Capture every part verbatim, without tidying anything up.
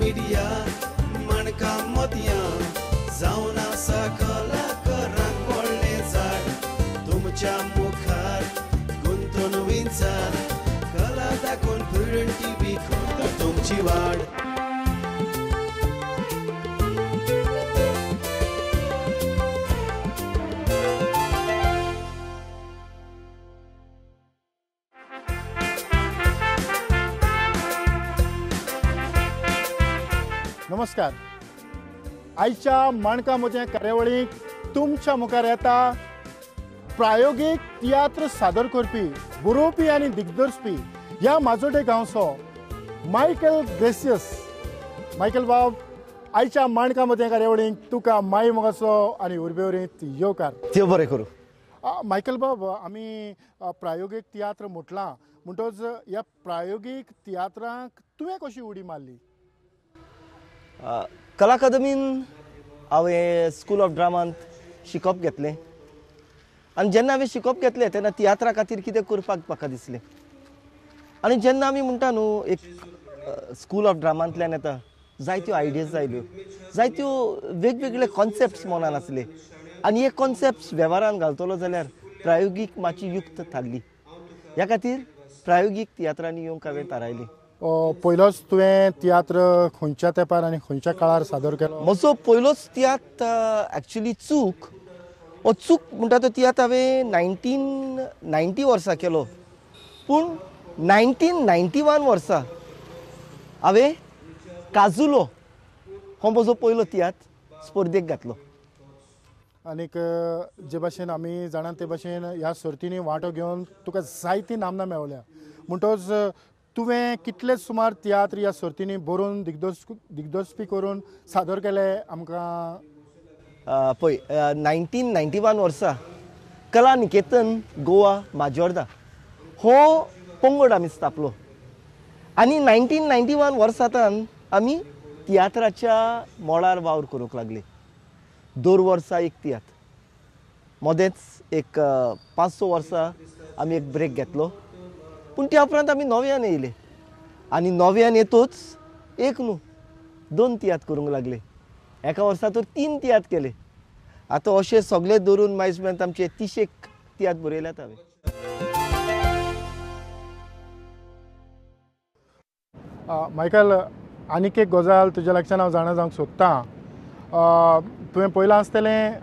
Media माणकां मोतयां जावन आसा कलाकारांक व्हडलें झाड तुमच्या मुखार गुंतून विंचार कला दाखोवन प्रुडंट टीव्ही करता तुमची वाड. नमस्कार. आयच्या माणकां मोतयां कार्यावळीक तुमच्या मुखार येता प्रायोगीक तियात्र सादर करपी बरोवपी आनी दिग्दर्शपी ह्या माजोडे गांवचो मायकल ग्रेसियस. मायकल बाब, आयच्या माणकां मोतयां कार्यावळीक तुका माय मोगाचो आनी उर्बेवरीत येवकार. देव बरें करूं. मायकल बाब, आमी प्रायोगीक तियात्र म्हटलां म्हणटच ह्या प्रायोगीक तियात्राक तुवें कशी उडी मारली? कला अकादमीन हांवें स्कूल ऑफ ड्रामांत शिकप घेतलें आनी जेन्ना हांवें शिकप घेतलें तेन्ना तियात्रा खातीर कितें करपाक म्हाका दिसलें. आनी जेन्ना आमी म्हणटा न्हू एक स्कूल ऑफ ड्रामांतल्यान येता जायत्यो आयडियाज आयल्यो, जायत्यो वेगवेगळे कॉन्सेप्ट्स मनान आसले आनी हे कॉन्सेप्ट्स वेव्हारान घालतलो जाल्यार प्रायोगीक मातशी युक्त थारली. ह्या खातीर प्रायोगीक तियात्रांनी येवंक हांवें थारायली. पयलोच तुवें तियात्र खंयच्या तेंपार आनी खंयच्या काळार सादर केलो? म्हजो पयलोच तियात्र एक्चुली चूक, हो चूक म्हणटा तो तियात्र हांवें नायन्टीन नायन्टी वर्सा केलो, पूण नायन्टीन नायन्टी वन वर्सा हांवें काजुलो हो म्हजो पयलो तियात्र स्पर्धेक घातलो. आनीक जे भाशेन आमी जाणा ते भाशेन ह्या सर्तींनी वांटो घेवन तुका जायती नामना मेळ्ळ्या, म्हणटच तुवें कितले सुमार तियात्र ह्या सर्तींनी बरोवन दिग्दर्श दिग्दर्शपी करून सादर केले आमकां? पळय, नायन्टीन नायन्टी वन वर्सा कला निकेतन गोवा माजोर्दा हो पंगड आमी स्थापलो आनी नायन्टीन नायन्टी वन वर्सांतान आमी तियात्राच्या मळार वावर करूंक लागले. दर वर्सा एक तियात्र, मदेंच एक पांच स वर्सां आमी एक ब्रेक घेतलो, पूण त्या उपरांत आमी नव्यान येयले आनी नव्यान येतूच एक न्हू दोन तियात्र करूंक लागले. एका वर्सा तर तीन तियात्र केले. आतां अशें सगळे धरून मायज मेरेन आमचे तिशेक तियात्र बरयल्यात हांवें. मायकल, आनीक एक गजाल तुज्या लागच्यान हांव जाणा जावंक सोदतां. तुवें पळयलां आसतलें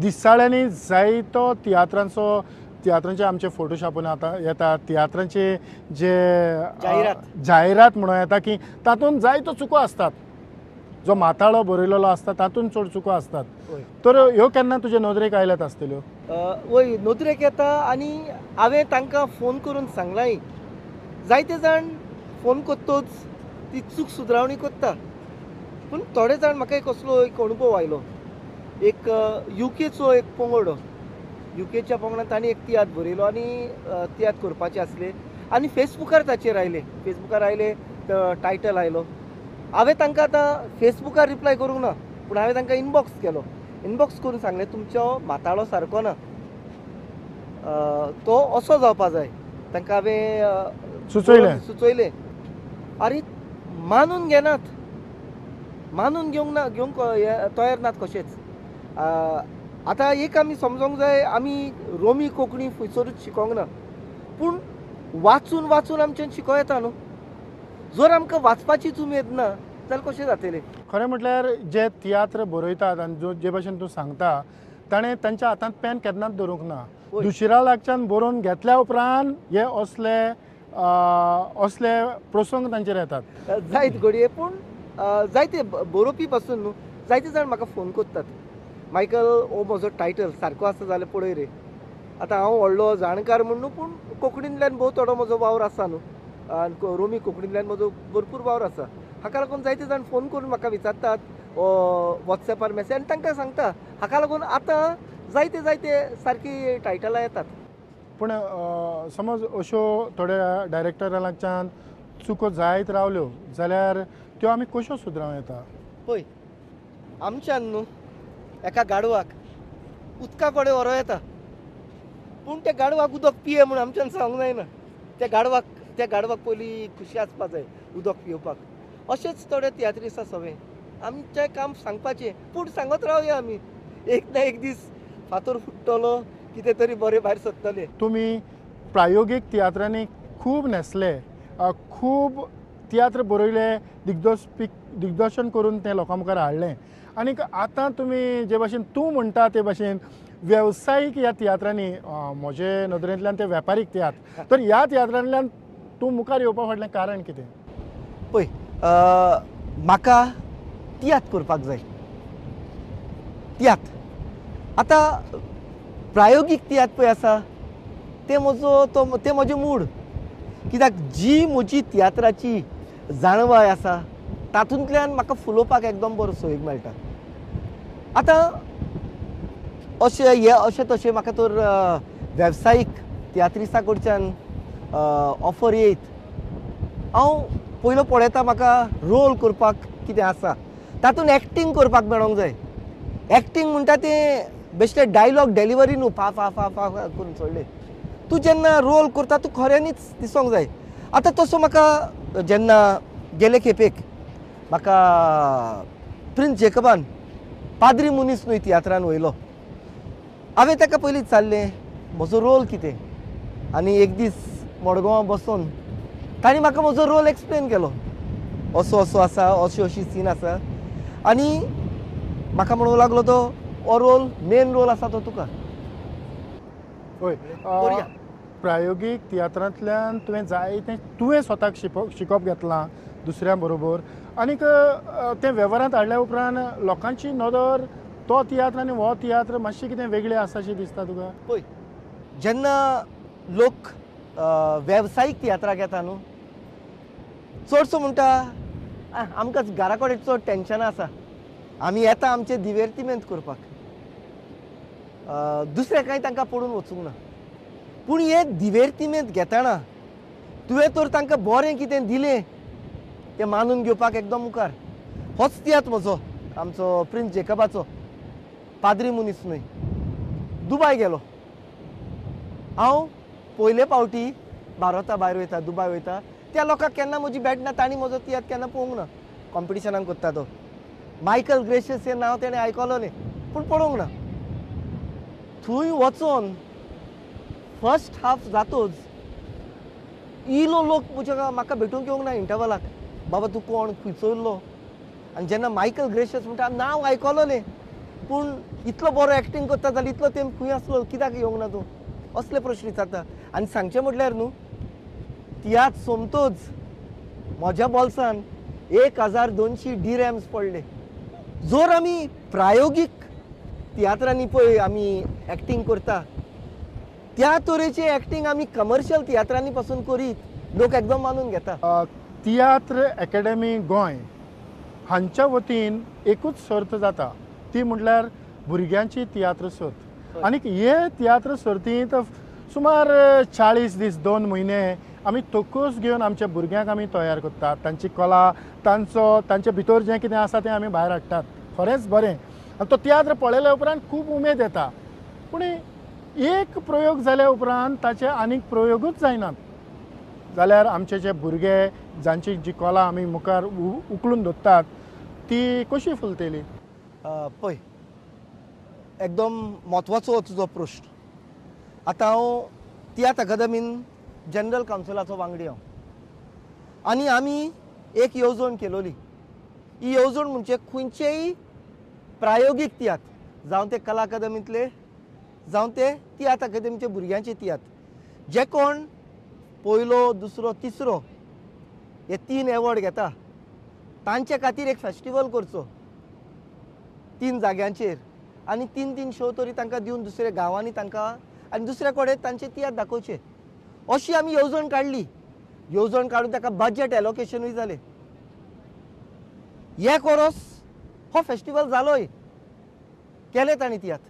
दिसाळ्यांनी जायतो तियात्रांचो तियात्रांचे आमचे फोटो छापून आतां येता, तियात्रांचे जे जायरात जायरात म्हणून येता की तातूंत जायतो चुको आसतात, जो माथाळो बरयलेलो आसता तातूंत चड चुको आसतात, तर ह्यो केन्ना तुजे नदरेक आयल्यात आसतल्यो? वय, नदरेक येता आनी हांवें तांकां फोन करून सांगलाय. जायते जाण फोन करतोच ती चूक सुदरावणी करता, पूण थोडे जाण म्हाका एक असलो एक अणभव आयलो. एक युकेचो एक पंगड, युकेच्या पंगडान तांणी एक तियात्र बरयलो आनी तियात्र करपाचे आसले आनी फेसबुकार ताचेर आयले. फेसबुकार आयले टायटल आयलो. हांवें तांकां आतां फेसबुकार रिप्लाय करूंक ना, पूण हांवें तांकां इनबॉक्स केलो. इनबॉक्स करून सांगलें तुमचो माताळो सारको ना, तो असो जावपा जाय. तांकां हांवें सुचयलें सुचयलें. आरे मानून घेनात, मानून घेवंक ना, घेवंक तयार नात कशेंच. आतां एक आमी समजोंक जाय, आमी रोमी कोंकणी खंयसरूच शिकोंक ना, पूण वाचून वाचून आमच्यान शिकों येता न्हू. जर आमकां वाचपाचीच उमेद ना जाल्यार कशें जातलें? खरें म्हटल्यार जे तियात्र बरयतात आनी जो जे भाशेन तूं सांगता ताणें तांच्या हातांत पेन केन्नाच धरूंक ना, दुसऱ्या लागच्यान बरोवन घेतल्या उपरांत हे असले असले प्रसंग तांचेर येतात. जायत घडये, पूण जायते बरोवपी पासून न्हू जायते जाण म्हाका फोन करतात, मायकल हो म्हजो टायटल सारको आसा जाल्यार पळय रे. आतां हांव व्हडलो जाणकार म्हूण न्हू, पूण कोंकणींतल्यान भोव थोडो म्हजो वावर आसा न्हू, आनी रोमी कोंकणींतल्यान म्हजो भरपूर वावर आसा. हाका लागून जायते जाण फोन करून म्हाका विचारतात वॉट्सएपार मॅसेज, आनी तांकां सांगता. हाका लागून आतां जायते जायते सारकी टायटलां येतात. पूण समज अश्यो थोड्या डायरेक्टरा लागच्यान चुको जायत रावल्यो जाल्यार त्यो आमी कश्यो सुदरावं येता? पळय, आमच्यान न्हू एका गाडवाक उदका कडेन व्हरों येता, पूण त्या गाडवाक उदक पिये म्हूण आमच्यान सांगूंक जायना. त्या गाडवाक त्या गाडवाक पयलीं खुशी आसपा जाय उदक पिवपाक. अशेंच थोडे तियात्रिस्ट सगळे आमचें काम सांगपाचें, पूण सांगत रावया आमी, एक ना एक दीस फातर फुट्टलो, कितें तरी बरें भायर सरतलें. तुमी प्रायोगीक तियात्रांनी खूब न्हेसले, खूब तियात्र बरयले, दिग्दर्शपी दिग्दर्शन करून तें लोकां मुखार हाडलें आनीक आतां तुमी जे भाशेन तूं म्हणटा ते भाशेन वेवसायीक ह्या तियात्रांनी, म्हजे नदरेंतल्यान ते वेपारीक तियात्र, तर ह्या तियात्रांतल्यान तूं मुखार येवपा फाटलें कारण कितें? पळय, म्हाका तियात्र करपाक जाय, तियात्र. आतां प्रायोगीक तियात्र पळय आसा ते म्हजो तो तें म्हजें मूड, कित्याक जी म्हजी तियात्राची जाणवाय आसा तातूंतल्यान म्हाका फुलोवपाक एकदम बरो सोयीक मेळटा. आतां अशें हे अशें तशें म्हाका तर वेवसायीक तियात्रिस्ता कडच्यान ऑफर येयत, हांव पयलो पळयता म्हाका रोल करपाक कितें आसा, तातूंत एक्टींग करपाक मेळोंक जाय. एक्टींग म्हणटा तें बेश्टें डायलॉग डेलिवरी न्हू, फा फा फा फा करून सोडलें. तूं जेन्ना रोल करता तूं खऱ्यांनीच दिसोंक जाय. आतां तसो म्हाका जेन्ना गेले खेपेक म्हाका प्रिन्स जेकबान पाद्री मनीस न्हय तियात्रान वयलो, हांवें ताका पयलीं विचारलें म्हजो रोल कितें, आनी एक दीस मडगांवां बसोन तांणी म्हाका म्हजो रोल एक्सप्लेन केलो, असो असो आसा, अशी अशी सीन आसा, आनी म्हाका म्हणूंक लागलो तो हो रोल मेन रोल आसा तो तुका. हय, प्रायोगीक तियात्रांतल्यान तुवें जायतें तुवें स्वताक शिकप शिकप घेतलां दुसऱ्यां बरोबर, आनीक तें वेव्हारांत हाडल्या उपरांत लोकांची नदर तो तियात्र आनी हो तियात्र मातशी कितें वेगळी आसा अशी दिसता तुका? पळय, जेन्ना लोक वेवसायीक तियात्राक येता न्हू, चडसो म्हणटा आमकां घरा कडेन चड टेंशनां आसा, आमी येता आमचे दिवेर्तिमेंत करपाक, दुसरें कांय तांकां पडून वचूंक ना. पूण हे दिवेर्तिमेंत घेतना तुवें तर तांकां बरें कितें दिलें तें मानून घेवपाक एकदम मुखार. होच तियात्र म्हजो, आमचो प्रिन्स जेकबाचो पाद्री मनीस न्हय, दुबाय गेलो. हांव पयले फावटी भारता भायर वयता, दुबाय वयता, त्या लोकांक केन्ना म्हजी भेट ना, तांणी म्हजो तियात्र केन्ना पळोवंक ना. कॉम्पिटिशनाक करता तो मायकल ग्रेशियस हें नांव तेणें आयकलोलें पूण पळोवंक ना. थंय वचोन फर्स्ट हाफ जातोच इलो लोक म्हज्या म्हाका भेटूंक येवंक ना इंटरवलाक, बाबा तूं कोण, खंयचो येयल्लो. आनी जेन्ना मायकल ग्रेशियस म्हणटा नांव आयकलोलें पूण इतलो बरो एक्टींग करता जाल्यार इतलो तेंप खंय आसलो, कित्याक येवंक ना तूं, असले प्रश्न विचारता. आनी सांगचें म्हटल्यार न्हू, तियात्र सोमतोच म्हज्या बोल्सान एक हजार दोनशी डिरॅम्स पडले. जर आमी प्रायोगीक तियात्रांनी पळय आमी एक्टींग करता त्या तरेची एक्टींग आमी कमर्शियल तियात्रांनी पासून करीत लोक एकदम मानून घेता. तियात्र एकेडमी गोंय हांच्या वतीन एकूच सर्त जाता, ती म्हटल्यार भुरग्यांची तियात्र सर्त. आनीक हे तियात्र सर्तींत सुमार चाळीस दीस दोन म्हयने आमी तकस घेवन आमच्या भुरग्यांक आमी तयार करतात, तांची कला, तांचो तांचे भितर जें कितें आसा तें आमी भायर हाडटात. खरेंच बरें, आनी तो तियात्र पळयल्या उपरांत खूब उमेद येता. पूण एक प्रयोग जाल्या उपरांत ताचे आनीक प्रयोगूच जायनात जाल्यार आमचे जे भुरगे जांची जी कला आमी मुखार उखलून धरतात ती कशी फुलतली? पळय, एकदम म्हत्वाचो तुजो प्रश्न. आतां हांव तियात्र अकादमीन जनरल कावन्सिलाचो वांगडी हांव, आनी आमी एक येवजण केलोली. ही येवजण म्हणजे खंयचेय प्रायोगीक तियात्र, जावं ते कला अकादमींतले जावं ते तियात्र अकादमीचे भुरग्यांचे तियात्र, जे कोण पयलो दुसरो तिसरो हे तीन एवॉर्ड घेता तांचे खातीर एक फेस्टिवल करचो तीन जाग्यांचेर, आनी तीन तीन शो तरी तांकां दिवन दुसऱ्या गांवांनी तांकां आनी दुसऱ्या कडेन तांचे तियात्र दाखोवचे, अशी आमी येवजण काडली. येवजण काडून ताका बजट एलोकेशनूय जालें. एक वरोस हो फेस्टिवल जालोय, केले तांणी तियात्र.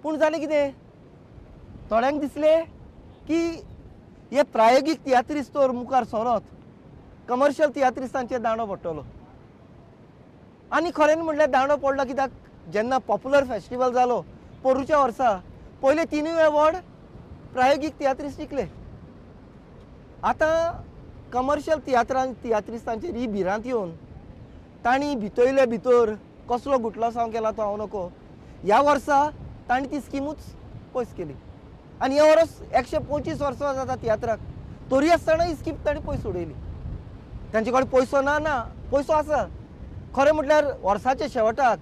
पूण जालें कितें, थोड्यांक दिसलें की हे प्रायोगीक तियात्रिस्त तर मुखार सरत कमर्शियल तियात्रिस्तांचेर दांडो पडटलो. आनी खरें म्हणल्यार दांडो पडलो कित्याक, जेन्ना पॉप्युलर फेस्टिवल जालो पोरूच्या वर्सा पयले तिनूय एवॉर्ड प्रायोगीक तियात्रिस्त जिखले. आतां कमर्शियल तियात्रान तियात्रिस्तांचेर ही भिरांत येवन तांणी भितयले भितर कसलो गुटलासांव केला तो हांव नको. ह्या वर्सा तांणी ती स्किमूच पयस केली आनी हे वर्स एकशे पंचवीस वर्सां जाता तियात्राक, तरी आसतना ही स्कीम तांणी पयस उडयली. तांचे कडेन पयसो ना, ना पयसो आसा. खरें म्हटल्यार वर्साच्या शेवटाक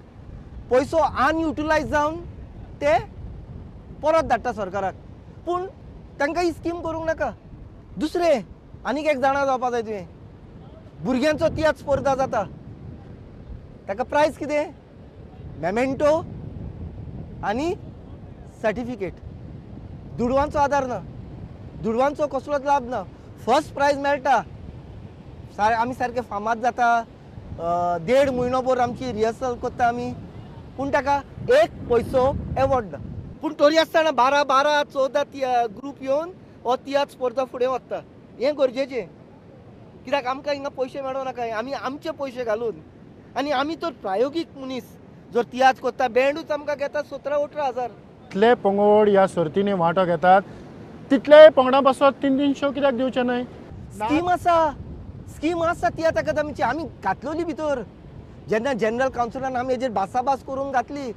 पयसो अनयुटिलायज जावन ते परत धाडटा सरकाराक, पूण तांकां ही स्कीम करूंक नाका. दुसरें आनीक एक जाणा जावपा जाय तुवें, भुरग्यांचो तियात्र स्पर्धा जाता, ताका प्रायज कितें? मेमेंटो आनी सर्टिफिकेट. दुडवांचो आदार ना, दुडवांचो कसलोच लाभ ना. फर्स्ट प्रायज मेळटा, सार आमी सारके फामाद जाता, देड म्हयनो भर आमची रिहर्सल करता आमी, पूण ताका एक पयसो एवॉर्ड ना. पूण तरी आसतना बारा बारा चवदा ग्रूप येवन हो तियात्र स्पर्धा फुडें वता. हें गरजेचें, कित्याक आमकां हिंगा पयशे मेळों नाका, आमी आमचे पयशे घालून. आनी आमी तर प्रायोगीक मनीस जर तियात्र करता, बँडूच आमकां घेता सतरा अठरा हजार. इतले पंगड ह्या सर्तींनी वांटो घेतात, तितले पंगडां पासत तीन तिनशे कित्याक दिवचे न्हय? स्कीम आसा, स्कीम आसा तियात्र अकादमीची, आमी घातलोली भितर. जेन्ना जनरल कावन्सिलान आमी हेजेर भासाभास करून घातली,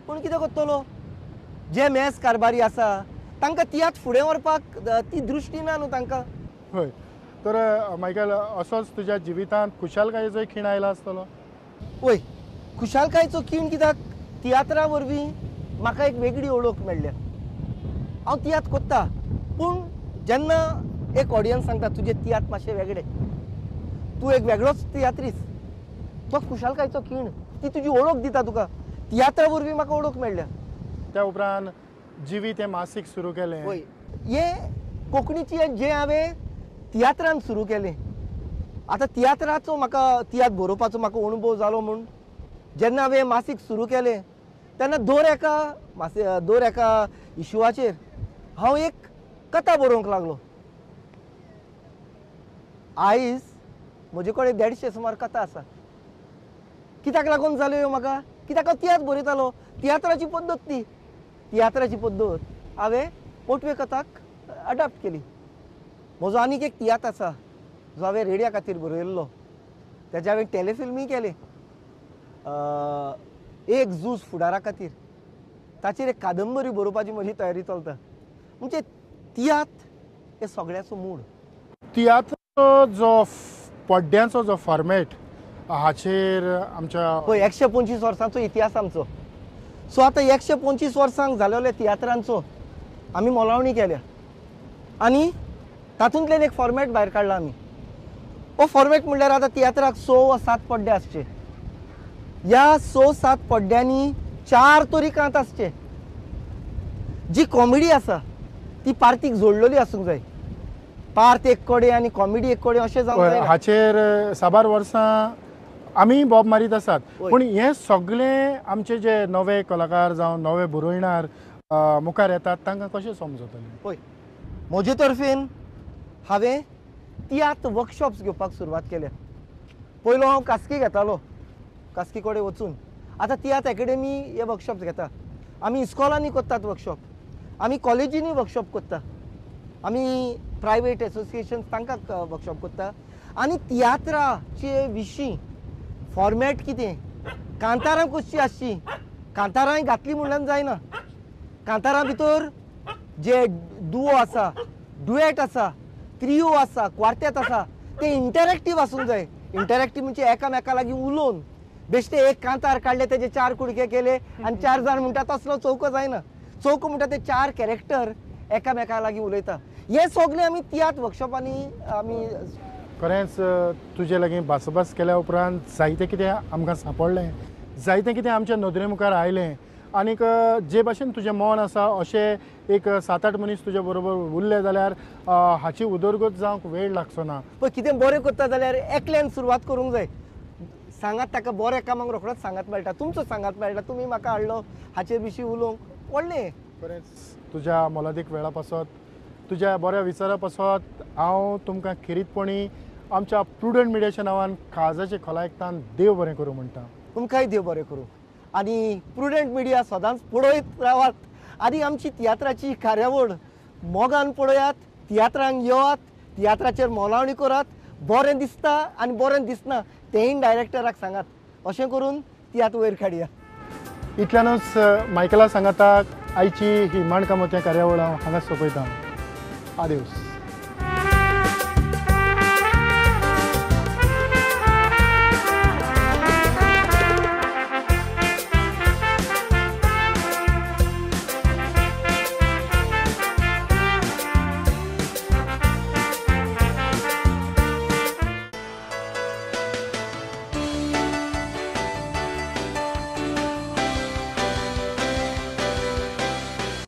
पूण कितें करतलो, जे मेस कारभारी आसा तांकां तियात्र फुडें व्हरपाक ती दृश्टी ना न्हू तांकां. हय, तर मायकल असोच तुज्या जिवितांत खुशालकायेचो खीण आयला आसतलो? वय, खुशालकायेचो खीण कित्याक तियात्रा वरवीं म्हाका एक वेगळी वळख मेळ्ळ्या. हांव तियात्र करता, पूण जेन्ना एक ऑडियन्स सांगता तुजे तियात्र मातशे वेगळे, तूं एक वेगळोच तियात्रीस, तो खुशालकायेचो खीण, ती तुजी वळख दिता तुका. तियात्रा वरवीं म्हाका वळख मेळ्ळ्या. त्या उपरांत जिवीत हें मासीक सुरू केलें. वय, हें कोंकणीची जें हांवें तियात्रान सुरू केलें. आतां तियात्राचो म्हाका तियात्र बरोवपाचो म्हाका अणभव जालो म्हूण जेन्ना हांवें मासीक सुरू केलें तेन्ना दर एका मासी दर एका इशुआचेर हांव एक कथा बरोवंक लागलो. आयज म्हजे कडेन देडशे सुमार कथा आसा. कित्याक लागून जाल्यो ह्यो म्हाका? कित्याक हांव तियात्र बरयतालो. तियात्राची पद्दत ती, तियात्राची पद्दत हांवें मोटवे कथाक अडॉप्ट केली. म्हजो आनीक एक तियात्र आसा जो हांवें रेडिया खातीर बरयल्लो, तेजे हांवें टेलिफिल्मूय केलें, एक झूज फुडारा खातीर. ताचेर एक कादंबरी बरोवपाची म्हजी तयारी चलता. म्हणजे तियात्र हे सगळ्याचो मूळ. तियात्र जो पड्ड्यांचो जो फॉर्मेट हाचेर आमच्या पळय एकशे पंचवीस वर्सांचो इतिहास आमचो. सो आतां एकशे पंचवीस वर्सांक जालेल्या तियात्रांचो आमी मोलावणी केल्या आनी तातूंतल्यान एक फॉर्मेट भायर काडला आमी. हो फॉर्मेट म्हणल्यार आतां तियात्राक स वा सात पड्डे आसचे. ह्या स सात पड्ड्यांनी चार तरी कांत आसचे. जी कॉमेडी आसा ती पार्तीक जोडलेली आसूंक जाय. पार्त एक कडेन आनी कॉमेडी एक कडेन अशें जावंक जायना. हाचेर साबार वर्सां आमी बोब मारीत आसात, पूण हें सगळें आमचे जे नवे कलाकार जावं नवे बरोयणार मुखार येतात तांकां कशें समजतलें? पळय, म्हजे तर्फेन हांवें तियात्र वर्कशॉप्स घेवपाक सुरवात केल्या. पयलो हांव कास्की घेतालो, कास्की कडेन वचून. आतां तियात्र एकेडमी हे वर्कशॉप्स घेता. आमी इस्कॉलांनी करतात वर्कशॉप, आमी कॉलेजींनी वर्कशॉप करता, आमी प्रायवेट एसोसिएशन तांकां वर्कशॉप करता. आनी तियात्राचे विशीं फॉर्मेट कितें, कांतारां कशीं आसचीं, कांतारां घातलीं म्हणल्यार जायना. कांतारां भितर जे दुओ आसा, डुएट आसा, त्रियो आसा, क्वार्तेत आसा, ते इंटरेक्टीव आसूंक जाय. इंटरेक्टीव म्हणजे एकामेका लागीं उलोवन बेश्टे एक कांतार काडले तेजे चार कुडके केले आनी चार जाण म्हणटा तसलो चौको जायना. चौको म्हणटा ते चार कॅरेक्टर एकामेका लागीं उलयता. हे सगळे आमी तियात्र वर्कशॉपांनी आमी. खरेंच तुजे लागीं भासाभास केल्या उपरांत जायतें कितें आमकां सांपडलें, जायतें कितें आमच्या नदरे मुखार आयलें आनीक जे भाशेन तुजें मन आसा अशें एक सात आठ मनीस तुजे बरोबर उरले जाल्यार हाची उदरगत जावंक वेळ लागचो ना. पळय, कितें बरें करता जाल्यार एकल्यान सुरवात करूंक जाय. सांगात ताका बऱ्या कामाक रोखडोच सांगात मेळटा, तुमचो सांगात मेळटा, तुमी म्हाका हाडलो हाचे विशीं उलोवंक व्हडलें. खरेंच तुज्या मोलादीक वेळा पासत, तुज्या बऱ्या विचारा पासत हांव तुमकां खेरीतपणी आमच्या प्रुडंट मिडियाच्या नांवान काळजाचे खोलायकतान देव बरें करूं म्हणटा. तुमकांय देव बरें करूं. आनी प्रुडंट मिडिया सदांच पळयत रावात आनी आमची तियात्राची कार्यावळ मोगान पळयात, तियात्रांक येवात, तियात्राचेर मोलावणी करात, बरें दिसता आनी बरें दिसना तेंय डायरेक्टराक सांगात, अशें करून तियात्र वयर काडया. इतल्यानूच मायकला सांगाताक आयची ही माणकां मोतयां कार्यावळ हांव हांगा सोंपयता. आदेवस.